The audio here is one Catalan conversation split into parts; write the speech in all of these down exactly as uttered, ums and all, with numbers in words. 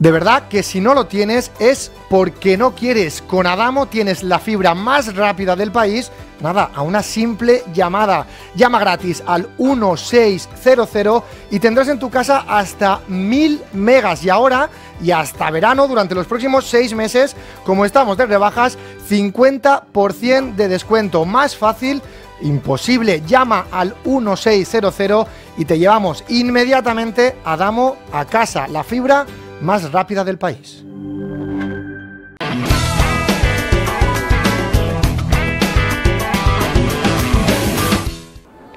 De verdad que si no lo tienes es porque no quieres. Con Adamo tienes la fibra más rápida del país, nada, a una simple llamada. Llama gratis al uno seis cero cero y tendrás en tu casa hasta mil megas. Y ahora, y hasta verano, durante los próximos seis meses, como estamos de rebajas, cincuenta por ciento de descuento. Más fácil imposible. Llama al uno seis cero cero y te llevamos inmediatamente a Adamo a casa. La fibra más rápida del país.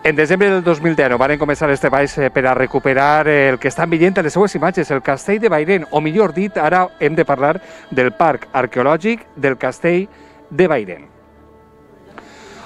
En desembre del dos mil deu van començar els treballs per a recuperar el que estan veient en les seues imatges, el castell de Bairén, o millor dit, ara hem de parlar del Parc Arqueològic del Castell de Bairén.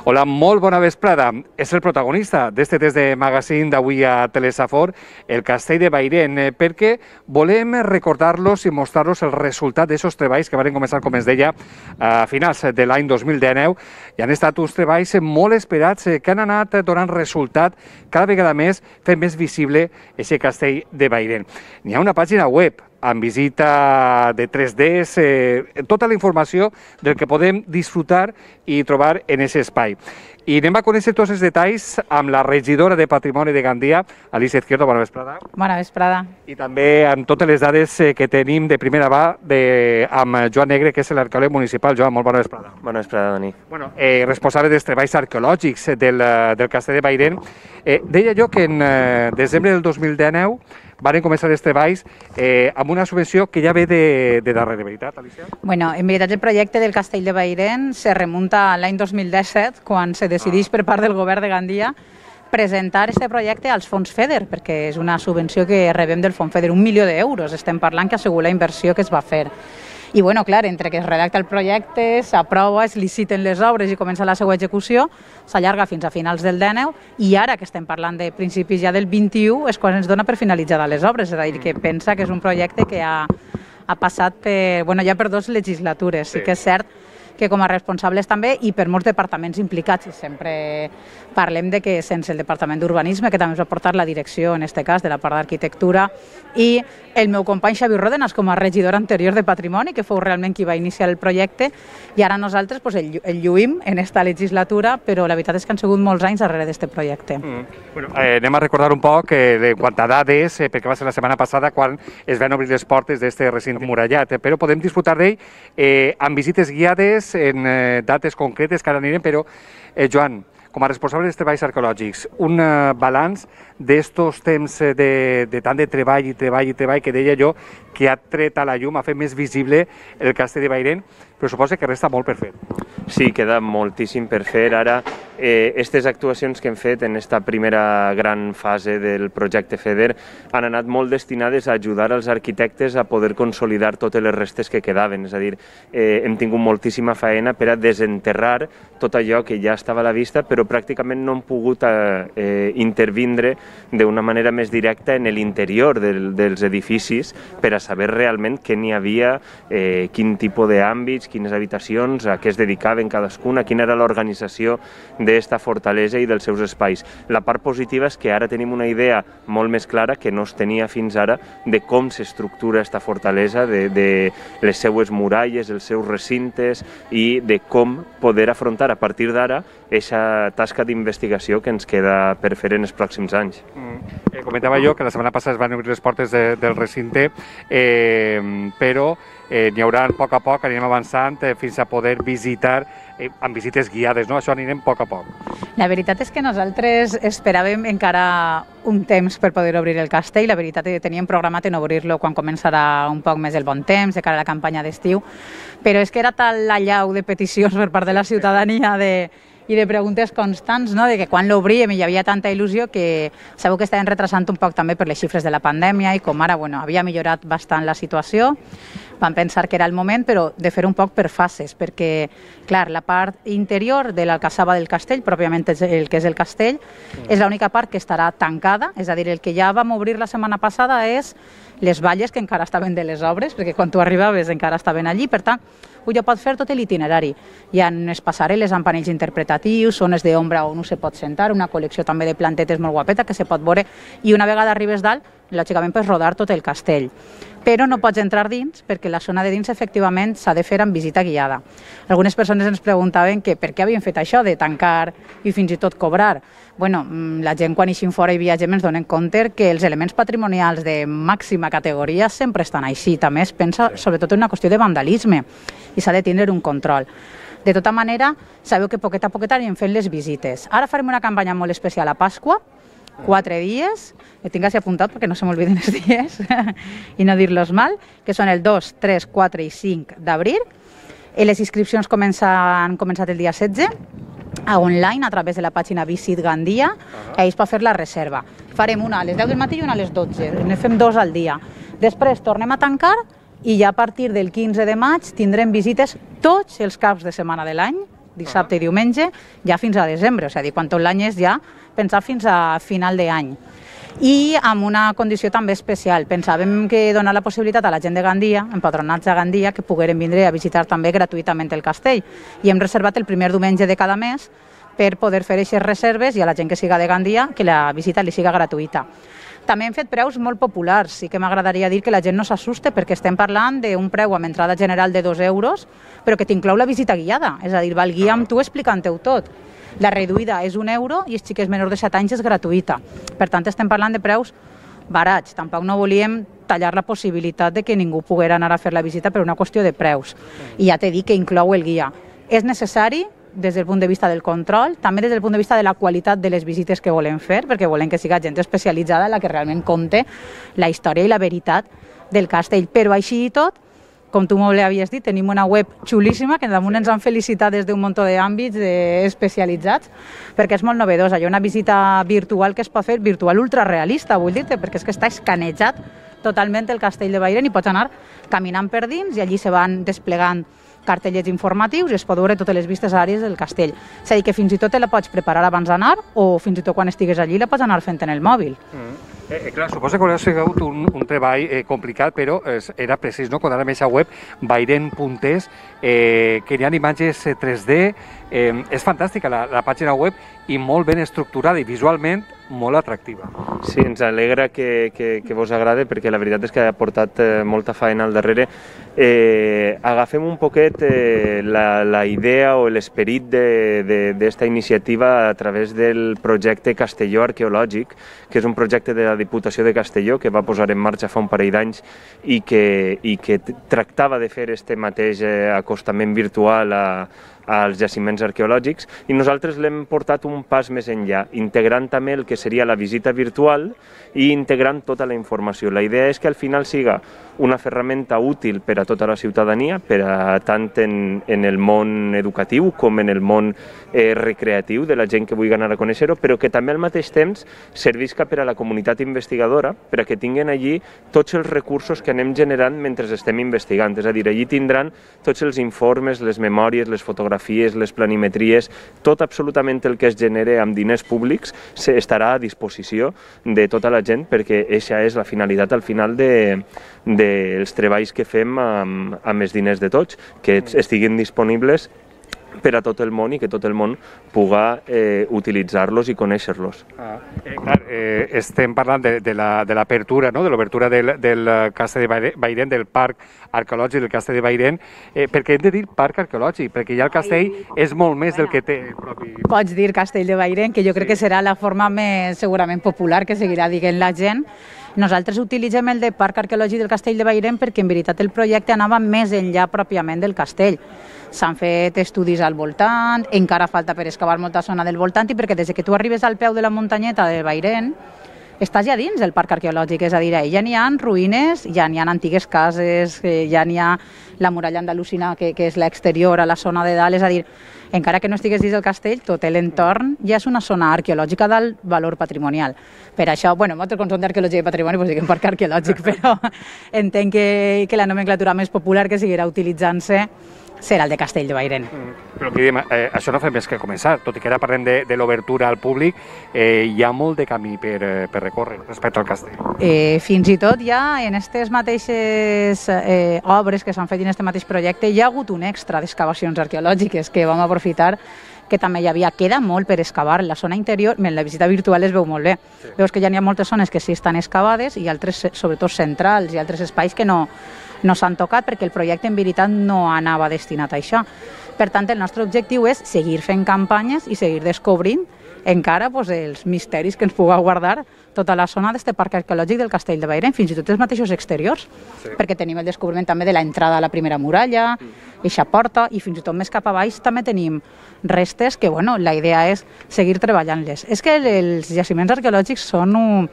Hola, molt bona vesprada. És el protagonista d'este test de magazine d'avui a Telesafor, el Castell de Bairén, perquè volem recordar-los i mostrar-los el resultat d'aquests treballs que van començar, com es deia, a finals de l'any dos mil dinou, i han estat uns treballs molt esperats que han anat donant resultat cada vegada més, fent més visible aquest Castell de Bairén. N'hi ha una pàgina web amb visita de tres D, eh, tota la informació del que podem disfrutar i trobar en aquest espai. I anem a conèixer tots els detalls amb la regidora de Patrimoni de Gandia, Alicia Izquierdo, bona vesprada. Bona vesprada. I també amb totes les dades que tenim de primera mà de, amb Joan Negre, que és l'arqueòleg municipal. Joan, molt bona vesprada. Bona vesprada, Dani. Bueno, eh, responsable dels treballs arqueològics del, del Castell de Bairén. Eh, deia jo que en eh, desembre del dos mil dinou van començar els treballs eh, amb una subvenció que ja ve de, de darrere, veritat, Alicia? Bueno, en veritat el projecte del Castell de Bairén se remunta a l'any dos mil disset, quan se decideix per part del govern de Gandia presentar aquest projecte als fons FEDER, perquè és una subvenció que rebem del fons FEDER, un milió d'euros, estem parlant que assegura la inversió que es va fer. I, bueno, clar, entre que es redacta el projecte, s'aprova, es liciten les obres i comença la seva execució, s'allarga fins a finals del dinou, i ara que estem parlant de principis ja del vint-i-u és quan ens dona per finalitzada les obres, és a dir, que pensa que és un projecte que ha, ha passat per, bueno, ja per dues legislatures. Sí que és cert que com a responsables també i per molts departaments implicats, i sempre parlem de que sense el Departament d'Urbanisme, que també ens va portar la direcció, en aquest cas, de la part d'Arquitectura, i el meu company Xavi Ródenas, com a regidor anterior de Patrimoni, que fou realment qui va iniciar el projecte, i ara nosaltres pues, el, el lluïm en esta legislatura, però la veritat és que han sigut molts anys darrere d'aquest projecte. Mm. Bueno, eh, anem a recordar un poc eh, quant a dades, eh, perquè va ser la setmana passada quan es van obrir les portes d'aquest recinte murallat, eh, però podem disfrutar d'ell eh, amb visites guiades en eh, dates concretes que ara anirem, però, eh, Joan, com a responsable dels treballs arqueològics, un eh, balanç d'estos temps de, de tant de treball i treball i treball que deia jo que ha tret a la llum, ha fet més visible el Castell de Bairén, però suposa que resta molt per fer. Sí, queda moltíssim per fer. Ara, aquestes eh, actuacions que hem fet en aquesta primera gran fase del projecte FEDER han anat molt destinades a ajudar els arquitectes a poder consolidar totes les restes que quedaven. És a dir, eh, hem tingut moltíssima feina per a desenterrar tot allò que ja estava a la vista, però pràcticament no hem pogut eh, intervindre d'una manera més directa en l'interior del, dels edificis per a saber realment què n'hi havia, eh, quin tipus d'àmbits, quines habitacions, a què es dedicaven cadascuna, quina era l'organització d'esta fortalesa i dels seus espais. La part positiva és que ara tenim una idea molt més clara que no es tenia fins ara de com s'estructura aquesta fortalesa, de, de les seues muralles, els seus recintes i de com poder afrontar a partir d'ara aquesta tasca d'investigació que ens queda per fer en els pròxims anys. Mm. Eh, comentava jo que la setmana passada es van obrir les portes de, del recinte, eh, però eh, n'hi haurà a poc a poc, anirem avançant eh, fins a poder visitar eh, amb visites guiades, no? Això anirem a poc a poc. La veritat és que nosaltres esperàvem encara un temps per poder obrir el castell. La veritat és que teníem programat en obrir-lo quan començarà un poc més el bon temps, de cara a la campanya d'estiu, però és que era tal l'allau de peticions per part de la ciutadania de i de preguntes constants, no? De que quan l'obríem hi havia tanta il·lusió que sabeu que estaven retrasant un poc també per les xifres de la pandèmia i com ara bueno, havia millorat bastant la situació, vam pensar que era el moment, però de fer un poc per fases, perquè, clar, la part interior de l'alcassaba del castell, pròpiament el que és el castell, és l'única part que estarà tancada, és a dir, el que ja vam obrir la setmana passada és les valles que encara estaven de les obres, perquè quan tu arribaves encara estaven allí, per tant, ja pot fer tot l'itinerari. Hi ha unes passarel·les amb panells interpretatius, zones d'ombra on no se pot sentar, una col·lecció també de plantetes molt guapeta que se pot veure, i una vegada arribes dalt, lògicament pots rodar tot el castell, però no pots entrar dins perquè la zona de dins efectivament s'ha de fer amb visita guiada. Algunes persones ens preguntaven que per què havien fet això de tancar i fins i tot cobrar. Bueno, la gent quan eixim fora i viatgem ens donen compte que els elements patrimonials de màxima categoria sempre estan així. També es pensa sobretot en una qüestió de vandalisme i s'ha de tindre un control. De tota manera, sabeu que poquet a poquet anirem fent les visites. Ara farem una campanya molt especial a Pasqua, quatre dies, que tinc així apuntat perquè no se m'olviden els dies i no dir-los mal, que són el dos, tres, quatre i cinc d'abril. Les inscripcions han començat el dia setze, a online, a través de la pàgina Visit Gandia, i es pot fer la reserva. Farem una a les deu del matí i una a les dotze, ne fem dos al dia. Després tornem a tancar i ja a partir del quinze de maig tindrem visites tots els caps de setmana de l'any, dissabte i diumenge, ja fins a desembre, és a dir, quan tot l'any és ja pensar fins a final d'any. I amb una condició també especial. Pensàvem que donar la possibilitat a la gent de Gandia, empadronats a Gandia, que pogueren vindre a visitar també gratuïtament el castell. I hem reservat el primer diumenge de cada mes per poder fer aquestes reserves i a la gent que siga de Gandia que la visita li siga gratuïta. També hem fet preus molt populars. Sí que m'agradaria dir que la gent no s'assuste perquè estem parlant d'un preu amb entrada general de dos euros, però que t'inclou la visita guiada. És a dir, va el guia amb tu explicant-ho tot. La reduïda és un euro i els xiquets menors de set anys és gratuïta. Per tant, estem parlant de preus barats. Tampoc no volíem tallar la possibilitat de que ningú poguera anar a fer la visita per una qüestió de preus. I ja t'he dit que inclou el guia. És necessari des del punt de vista del control, també des del punt de vista de la qualitat de les visites que volem fer, perquè volem que siga gent especialitzada la que realment conte la història i la veritat del castell. Però així i tot, com tu molt bé havies dit, tenim una web xulíssima que damunt ens han felicitat des d'un munt d'àmbits especialitzats, perquè és molt novedosa. Hi ha una visita virtual que es pot fer, virtual ultrarealista, vull dir-te, perquè és que està escanejat totalment el castell de Bairén i pots anar caminant per dins i allí se van desplegant cartellets informatius i es pot veure totes les vistes àrees del castell. És a dir, que fins i tot te la pots preparar abans d'anar o fins i tot quan estigues allí la pots anar fent en el mòbil. Mm. Eh, clar, suposo que haurà sigut un, un treball eh, complicat, però eh, era precís, no? Quan ara més a web, bairén punt es, eh, que hi ha imatges tres D, eh, és fantàstica la, la pàgina web i molt ben estructurada i visualment molt atractiva. Sí, ens alegra que, que, que vos agrade perquè la veritat és que ha portat eh, molta feina al darrere. Eh, agafem un poquet eh, la, la idea o l'esperit d'esta iniciativa a través del projecte Castelló Arqueològic, que és un projecte de la Diputació de Castelló que va posar en marxa fa un parell d'anys i que, i que tractava de fer este mateix eh, acostament virtual a als jaciments arqueològics i nosaltres l'hem portat un pas més enllà, integrant també el que seria la visita virtual i integrant tota la informació. La idea és que al final siga una ferramenta útil per a tota la ciutadania, per a tant en, en el món educatiu com en el món eh, recreatiu de la gent que vulgui anar a conèixer-ho, però que també al mateix temps servisca per a la comunitat investigadora, per a que tinguin allí tots els recursos que anem generant mentre estem investigant. És a dir, allí tindran tots els informes, les memòries, les fotografies, les planimetries, tot absolutament el que es genere amb diners públics estarà a disposició de tota la gent perquè aquesta és la finalitat al final de, dels treballs que fem amb, amb els diners de tots, que estiguin disponibles per a tot el món i que tot el món puga eh, utilitzar-los i conèixer-los. Ah, eh, clar, eh, estem parlant de, de l'apertura, la, no? de l'obertura del, del castell de Bairén, del parc arqueològic del castell de Bairén, eh, perquè hem de dir parc arqueològic, perquè ja el castell és molt més del que té el propi... Pots dir castell de Bairén, que jo crec que serà la forma més segurament popular que seguirà dient la gent. Nosaltres utilitzem el de Parc Arqueològic del Castell de Bairén perquè en veritat el projecte anava més enllà pròpiament del castell. S'han fet estudis al voltant, encara falta per excavar molta zona del voltant i perquè des que tu arribes al peu de la muntanyeta de Bairén estàs ja dins del parc arqueològic, és a dir, ja n'hi ha ruïnes, ja n'hi ha antigues cases, ja n'hi ha la muralla andalusina que, que és l'exterior a la zona de dalt, és a dir, encara que no estigués dins del castell, tot l'entorn ja és una zona arqueològica d'alt valor patrimonial. Per això, bueno, nosaltres quan som d'arqueologia i patrimoni doncs diguem parc arqueològic, però entenc que, que la nomenclatura més popular que seguirà utilitzant-se serà el de Castell de Bairén. Mm. Però que diem, eh, això no fa més que començar, tot i que ara parlem de, de l'obertura al públic, eh, hi ha molt de camí per, eh, per recórrer respecte al castell. Eh, fins i tot ja en aquestes mateixes eh, obres que s'han fet en aquest mateix projecte hi ha hagut un extra d'excavacions arqueològiques que vam aprofitar que també hi havia, queda molt per excavar en la zona interior, en la visita virtual es veu molt bé. Sí. Veus que ja n'hi ha moltes zones que sí estan excavades i altres, sobretot centrals, i altres espais que no, no s'han tocat perquè el projecte en veritat no anava destinat a això. Per tant, el nostre objectiu és seguir fent campanyes i seguir descobrint encara pues, els misteris que ens puga guardar tota la zona d'aquest parc arqueològic del Castell de Bairén, fins i tot els mateixos exteriors, sí. perquè tenim el descobriment també de l'entrada a la primera muralla, eixa porta, i fins i tot més cap a baix també tenim restes que, bueno, la idea és seguir treballant-les. És que els jaciments arqueològics són un,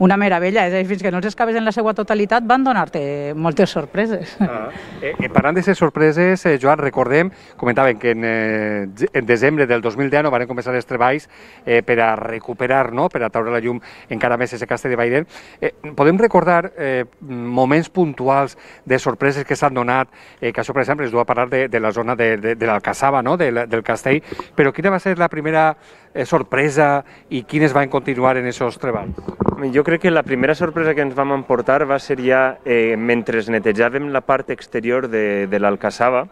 una meravella, és a dir, fins que no els excaves en la seva totalitat van donar-te moltes sorpreses. Ah. Eh, eh, parlant d'aquestes sorpreses, eh, Joan, recordem, comentaven que en, eh, en desembre del dos mil deu van començar els treballs eh, per a recuperar, no?, per a treure la llum encara més aquest Castell de Bairén. Eh, podem recordar eh, moments puntuals de sorpreses que s'han donat, eh, que això, per exemple, es du a parlar de, de la zona de, de, de l'Alcassaba, no?, de, del Castell, però quina va ser la primera eh, sorpresa i quines van continuar en aquests treballs? Jo crec que la primera sorpresa que ens vam emportar va ser ja eh, mentre netejàvem la part exterior de, de l'Alcassaba,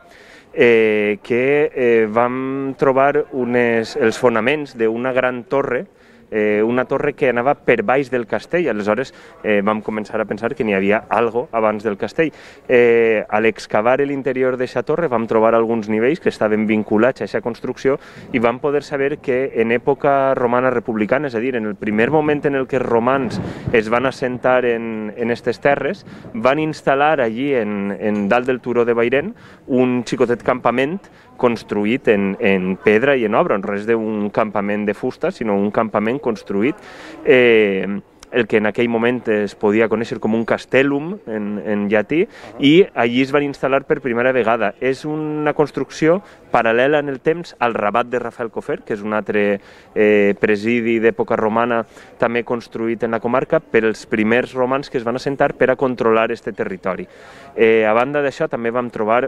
eh, que eh, vam trobar unes, els fonaments d'una gran torre, eh, una torre que anava per baix del castell. Aleshores eh, vam començar a pensar que n'hi havia algo abans del castell. Eh, a l'excavar l'interior d'aquesta torre vam trobar alguns nivells que estaven vinculats a aquesta construcció i vam poder saber que en època romana republicana, és a dir, en el primer moment en el que els romans es van assentar en aquestes terres, van instal·lar allí, en, en dalt del turó de Bairén, un xicotet campament construït en, en pedra i en obra, no res d'un campament de fusta, sinó un campament construït, eh, el que en aquell moment es podia conèixer com un castellum en, en llatí, i allí es van instal·lar per primera vegada. És una construcció paral·lela en el temps al Rabat de Rafael Cofer, que és un altre eh, presidi d'època romana també construït en la comarca per els primers romans que es van assentar per a controlar aquest territori. Eh, a banda d'això també vam trobar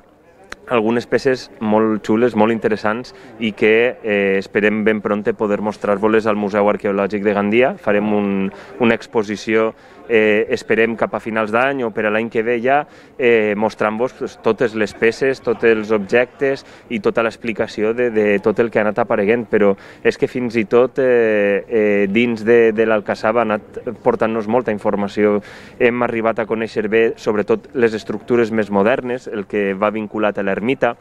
algunes peces molt xules, molt interessants i que eh, esperem ben pronte poder mostrar-vos al Museu Arqueològic de Gandia. Farem un, una exposició, eh, esperem cap a finals d'any o per a l'any que ve ja, eh, mostrant-vos pues, totes les peces, tots els objectes i tota l'explicació de, de tot el que ha anat apareguent, però és que fins i tot eh, eh, dins de, de l'Alcassaba ha anat portant-nos molta informació. Hem arribat a conèixer bé, sobretot, les estructures més modernes, el que va vinculat a l'ermita,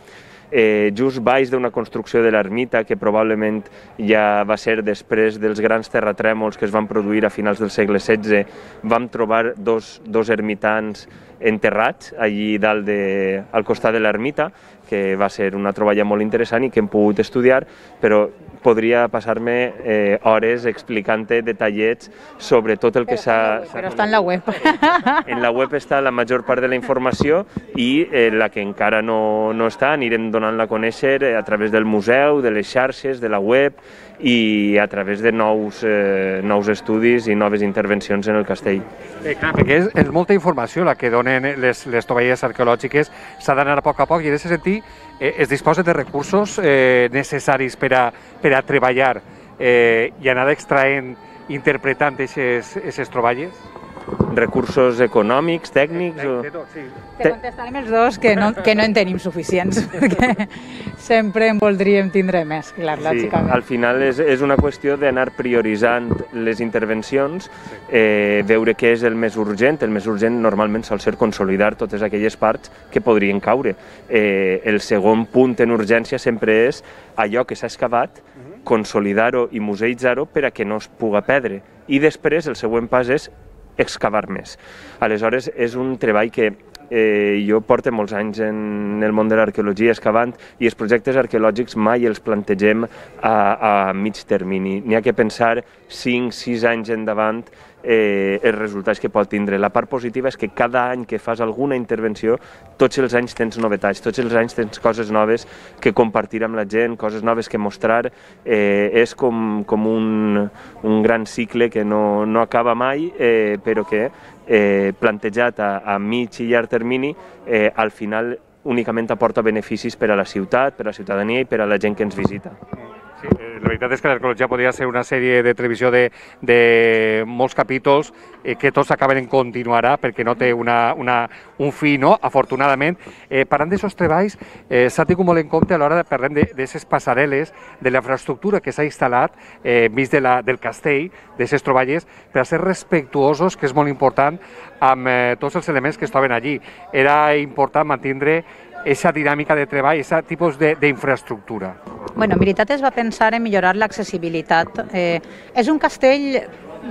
eh, just baix d'una construcció de l'ermita que probablement ja va ser després dels grans terratrèmols que es van produir a finals del segle setze, vam trobar dos, dos ermitans enterrats allí dalt de, al costat de l'ermita, que va ser una troballa molt interessant i que hem pogut estudiar, però podria passar-me eh, hores explicant-te detallets sobre tot el que s'ha... Però està en la web. En la web està la major part de la informació i eh, la que encara no, no està anirem donant-la a conèixer a través del museu, de les xarxes, de la web i a través de nous, eh, nous estudis i noves intervencions en el castell. Eh, clar, perquè és, és molta informació la que donen les, les tovalles arqueològiques, s'ha d'anar a poc a poc i en aquest sentit eh, es disposa de recursos eh, necessaris per a, per a treballar eh, i anar extraent, interpretant aquestes troballes? Recursos econòmics, tècnics... O... Sí. Te contestarem els dos que no, que no en tenim suficients, perquè sempre en voldríem tindre més, clar, sí, lògicament. Al final és, és una qüestió d'anar prioritzant les intervencions, eh, veure què és el més urgent. El més urgent normalment sol ser consolidar totes aquelles parts que podrien caure. Eh, el segon punt en urgència sempre és allò que s'ha excavat, consolidar-ho i museïtzar-ho per a que no es puga perdre. I després el següent pas és excavar més. Aleshores, és un treball que eh, jo porto molts anys en el món de l'arqueologia excavant i els projectes arqueològics mai els plantegem a, a mig termini. N'hi ha que pensar cinc sis anys endavant eh, els resultats que pot tindre. La part positiva és que cada any que fas alguna intervenció, tots els anys tens novetats, tots els anys tens coses noves que compartir amb la gent, coses noves que mostrar. Eh, és com, com un, un gran cicle que no, no acaba mai, eh, però que eh, plantejat a, a mig i llarg termini, eh, al final únicament aporta beneficis per a la ciutat, per a la ciutadania i per a la gent que ens visita. Sí, la veritat és que l'arqueologia podria ser una sèrie de televisió de, de molts capítols eh, que tots acaben en continuarà perquè no té una, una, un fi, no? Afortunadament. Eh, parlant d'aquests treballs, eh, s'ha tingut molt en compte a l'hora de parlar d'aquestes passarel·les, de la infraestructura que s'ha instal·lat eh, enmig de la, del castell, d'aquestes troballes, per a ser respectuosos, que és molt important, amb eh, tots els elements que es troben allí. Era important mantenir aquesta dinàmica de treball, aquest tipus d'infraestructura. Bueno, en veritat es va pensar en millorar l'accessibilitat. Eh, és un castell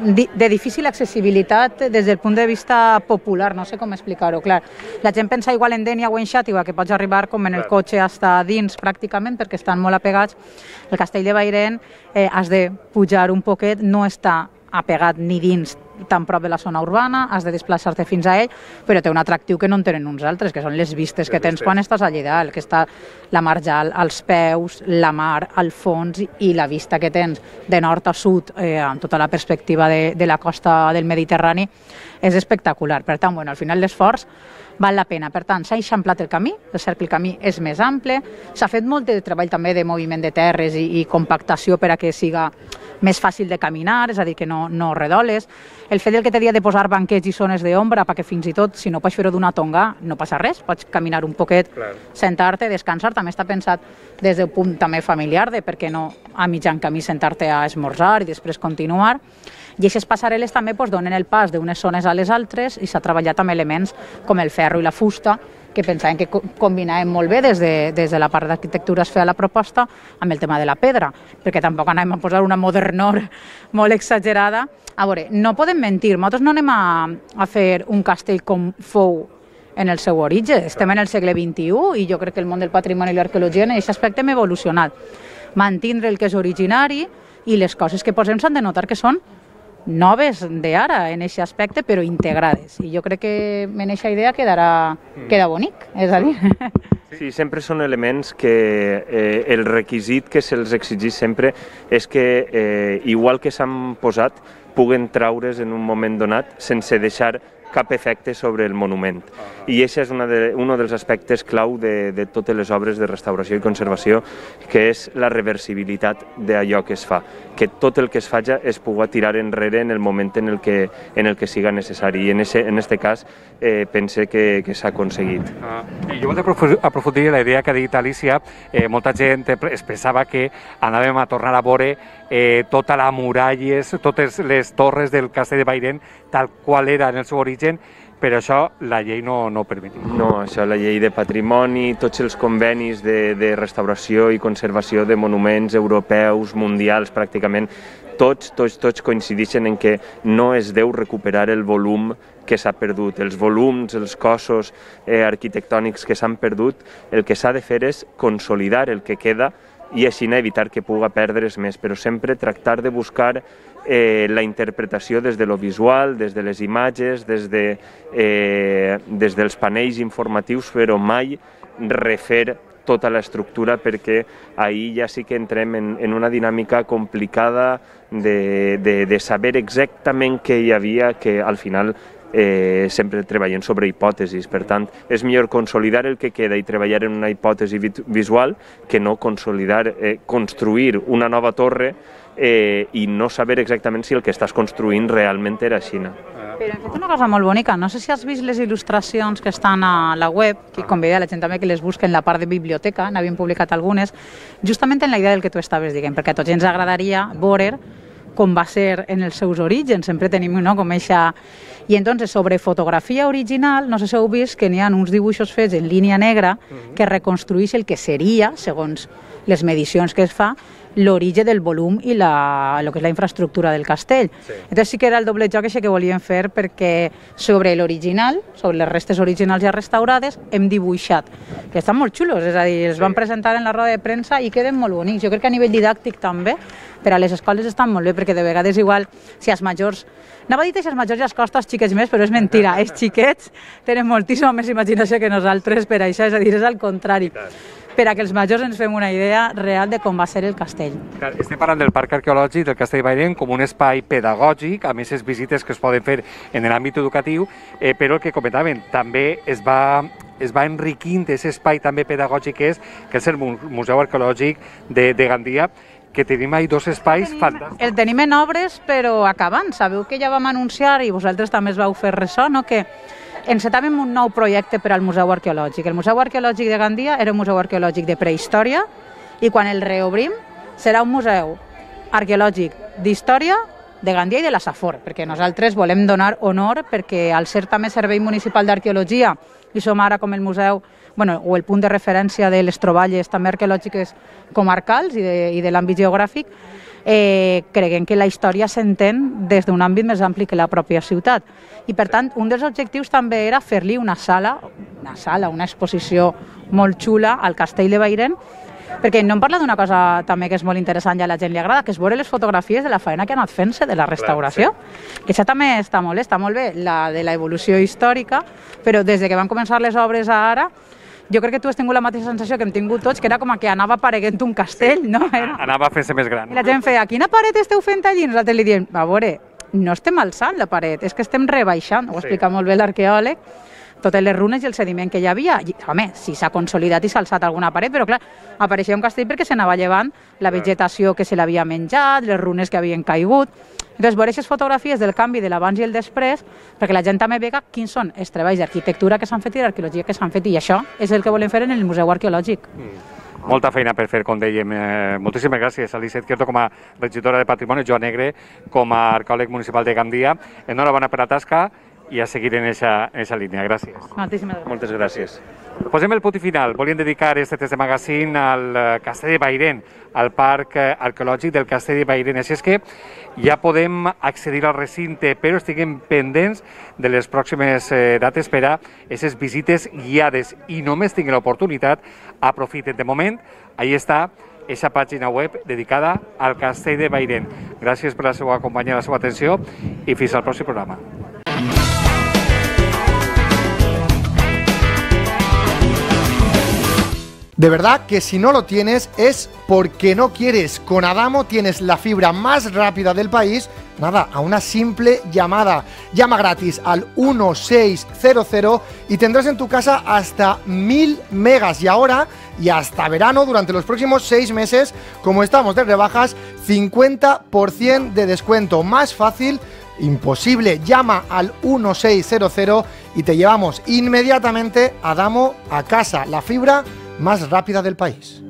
de difícil accessibilitat des del punt de vista popular, no sé com explicar-ho. Clar, la gent pensa igual en Dénia o en Xàtiva, que pots arribar com en el cotxe hasta dins pràcticament, perquè estan molt apegats. El castell de Bairén eh, has de pujar un poquet, no està apegat ni dins tan prop de la zona urbana, has de desplaçar-te fins a ell, però té un atractiu que no en tenen uns altres, que són les vistes que tens quan estàs allà dalt, que està la marjal als peus, la mar al fons i la vista que tens de nord a sud eh, amb tota la perspectiva de, de la costa del Mediterrani és espectacular. Per tant, bueno, al final l'esforç val la pena. Per tant, s'ha eixamplat el camí, és cert que el camí és més ample, s'ha fet molt de treball també de moviment de terres i, i compactació per a que siga més fàcil de caminar, és a dir, que no, no redoles. El fet del que t'he dit de posar banquets i zones d'ombra perquè fins i tot, si no pots fer-ho d'una tonga, no passa res, pots caminar un poquet, sentar-te, descansar, també està pensat des del punt també familiar, de per què no a mitjan camí sentar-te a esmorzar i després continuar. I aquestes passarel·les també doncs, donen el pas d'unes zones a les altres i s'ha treballat amb elements com el ferro i la fusta, que pensàvem que combinàvem molt bé des de, des de la part d'arquitectura es feia la proposta amb el tema de la pedra, perquè tampoc anàvem a posar una modernor molt exagerada. A veure, no podem mentir, nosaltres no anem a, a fer un castell com fou en el seu origen, estem en el segle vint-i-u i jo crec que el món del patrimoni i l'arqueologia en aquest aspecte hem evolucionat. Mantindre el que és originari i les coses que posem s'han de notar que són noves d'ara en aquest aspecte, però integrades. I jo crec que en aquesta idea quedarà, queda bonic, és a dir. Sí, sempre són elements que eh, el requisit que se'ls exigís sempre és que, eh, igual que s'han posat, puguen traure's en un moment donat sense deixar cap efecte sobre el monument. I això és un de, un dels aspectes clau de, de totes les obres de restauració i conservació, que és la reversibilitat d'allò que es fa, que tot el que es faci es pugui tirar enrere en el moment en el que, en el que siga necessari. I en aquest en este cas eh, pense que, que s'ha aconseguit. Ah, jo vull aprofundir la idea que ha dit Alicia. Eh, molta gent es pensava que anàvem a tornar a veure eh, tota la muralles, totes les torres del castell de Bairén tal qual era en el seu origen, però això la llei no, no permet. No, això la llei de patrimoni, tots els convenis de, de restauració i conservació de monuments europeus, mundials, pràcticament, tots, tots, tots coincideixen en que no es deu recuperar el volum que s'ha perdut, els volums, els cossos eh, arquitectònics que s'han perdut. El que s'ha de fer és consolidar el que queda i així evitar que pugui perdre's més, però sempre tractar de buscar eh, la interpretació des de lo visual, des de les imatges, des, de, eh, des dels panells informatius, però mai refer tota l'estructura, perquè ahir ja sí que entrem en, en una dinàmica complicada de, de, de saber exactament què hi havia, que al final Eh, sempre treballem sobre hipòtesis. Per tant, és millor consolidar el que queda i treballar en una hipòtesi visual que no consolidar, eh, construir una nova torre eh, i no saber exactament si el que estàs construint realment era així. Però hem fet una cosa molt bonica. No sé si has vist les il·lustracions que estan a la web, que convido a la gent també que les busquen en la part de biblioteca, n'havíem publicat algunes, justament en la idea del que tu estaves dient, perquè a tots ens agradaria veure com va ser en els seus orígens, sempre tenim no, com eixa... I entonces, sobre fotografia original, no sé si heu vist que n'hi ha uns dibuixos fets en línia negra que reconstrueix el que seria, segons les medicions que es fa, l'origen del volum i la, el que és la infraestructura del castell. Sí. Entonces sí que era el doble joc que volíem fer, perquè sobre l'original, sobre les restes originals ja restaurades, hem dibuixat, que estan molt xulos, és a dir, els sí. van presentar en la roda de premsa i queden molt bonics. Jo crec que a nivell didàctic també, per a les escoles estan molt bé, perquè de vegades igual, si els majors... Anava a dir que els majors ja es costa als xiquets més, però és mentira. Els xiquets tenen moltíssima més imaginació que nosaltres per això, és a dir, és al contrari. Per a que els majors ens fem una idea real de com va ser el castell. Estem parlant del Parc Arqueològic del Castell de Bairén com un espai pedagògic, amb aquestes visites que es poden fer en l'àmbit educatiu, eh, però el que comentaven, també es va, es va enriquint aquest espai també pedagògic que és, que és el Museu Arqueològic de, de Gandia, que tenim ahí dos espais fantàstics. El tenim en obres, però acabant. Sabeu que ja vam anunciar, i vosaltres també es vau fer ressò, no? Que encetàvem un nou projecte per al Museu Arqueològic. El Museu Arqueològic de Gandia era un museu arqueològic de prehistòria i quan el reobrim serà un museu arqueològic d'història de Gandia i de la Safor, perquè nosaltres volem donar honor perquè al ser també Servei Municipal d'Arqueologia i som ara com el museu, bueno, o el punt de referència de les troballes també arqueològiques comarcals i de, i de l'àmbit geogràfic, eh, creguem que la història s'entén des d'un àmbit més ampli que la pròpia ciutat. I per tant, un dels objectius també era fer-li una sala, una sala, una exposició molt xula al Castell de Bairén, perquè no em parla d'una cosa també que és molt interessant i a la gent li agrada, que és veure les fotografies de la feina que ha anat fent-se de la restauració. Clar, sí. Que això també està molt bé, està molt bé, la de l'evolució històrica, però des de que van començar les obres a ara, jo crec que tu has tingut la mateixa sensació que hem tingut tots, que era com que anava apareguent un castell, sí. No? Era... Anava fent-se més gran. I la gent feia, quina paret esteu fent allí? I nosaltres li diem, a veure, no estem alçant la paret, és que estem rebaixant, ho explica sí. Molt bé l'arqueòleg, totes les runes i el sediment que hi havia. I, home, sí s'ha consolidat i s'ha alçat alguna paret, però clar, apareixia un castell perquè se n'anava llevant la vegetació que se l'havia menjat, les runes que havien caigut. Entonces, veure aquestes fotografies del canvi de l'abans i el després, perquè la gent també vega quins són els treballs d'arquitectura que s'han fet i d'arqueologia que s'han fet, i això és el que volem fer en el Museu Arqueològic. Mm. Molta feina per fer, com dèiem. Eh, moltíssimes gràcies a Eliseth Quierto com a regidora de Patrimoni, Joan Negre com a arqueòleg municipal de Gandia. Enhorabona per la tasca i a seguir en aquesta línia. Gràcies. Moltíssimes gràcies. Moltes gràcies. Posem el punt i final. Volíem dedicar este test de magazín al Castell de Bairén, al Parc Arqueològic del Castell de Bairén. Així és que ja podem accedir al recinte, però estiguem pendents de les pròximes dates per a aquestes visites guiades i només tinguin l'oportunitat, aprofiten. De moment, ahí està aquesta pàgina web dedicada al Castell de Bairén. Gràcies per la seva companyia, la seva atenció i fins al pròxim programa. De verdad que si no lo tienes es porque no quieres. Con Adamo tienes la fibra más rápida del país, nada, a una simple llamada. Llama gratis al uno seis cero cero y tendrás en tu casa hasta mil megas. Y ahora, y hasta verano, durante los próximos seis meses, como estamos de rebajas, cincuenta por ciento de descuento. Más fácil imposible. Llama al uno seis cero cero y te llevamos inmediatamente Adamo a casa. La fibra más rápida del país.